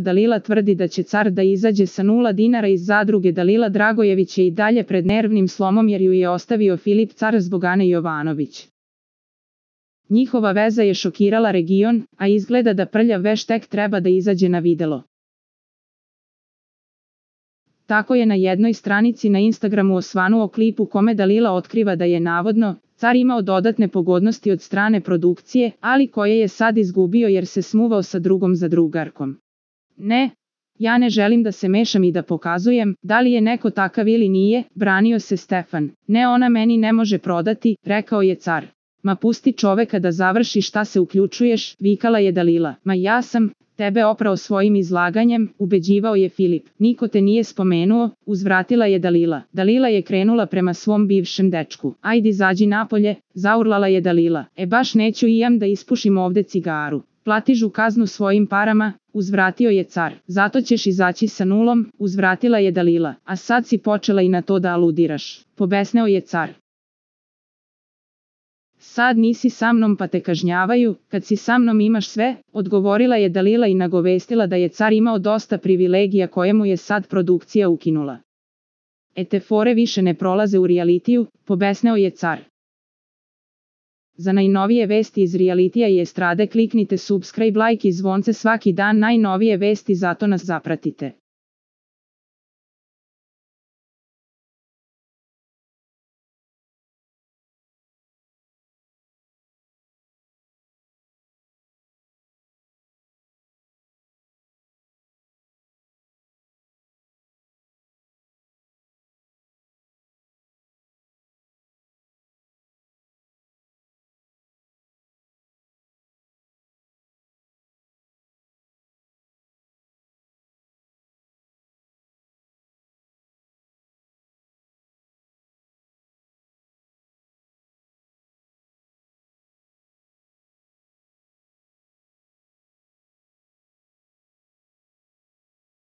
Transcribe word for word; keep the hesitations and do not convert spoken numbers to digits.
Dalila tvrdi da će car da izađe sa nula dinara iz zadruge. Dalila Dragojević je i dalje pred nervnim slomom jer ju je ostavio Filip Car zbog Ane Jovanović. Njihova veza je šokirala region, a izgleda da prljav veš tek treba da izađe na videlo. Tako je na jednoj stranici na Instagramu osvanuo klip u kome Dalila otkriva da je navodno car imao dodatne pogodnosti od strane produkcije, ali koje je sad izgubio jer se smuvao sa drugom zadrugarkom. Ne, ja ne želim da se mešam i da pokazujem da li je neko takav ili nije, branio se Stefan. Ne, ona meni ne može prodati, rekao je car. Ma pusti čoveka da završi, šta se uključuješ, vikala je Dalila. Ma ja sam tebe oprao svojim izlaganjem, ubeđivao je Filip. Niko te nije spomenuo, uzvratila je Dalila. Dalila je krenula prema svom bivšem dečku. Ajde izađi napolje, zaurlala je Dalila. E baš neću i jam da ispušim ovde cigaru. Platižu kaznu svojim parama, uzvratio je car. Zato ćeš izaći sa nulom, uzvratila je Dalila. A sad si počela i na to da aludiraš. Pobesneo je car. Sad nisi sa mnom pa te kažnjavaju, kad si sa mnom imaš sve, odgovorila je Dalila i nagovestila da je car imao dosta privilegija koje mu je sad produkcija ukinula. E te fore više ne prolaze u realitiju, pobesneo je car. Za najnovije vesti iz realitija i estrade kliknite subscribe, like i zvonce svaki dan, najnovije vesti, zato nas zapratite.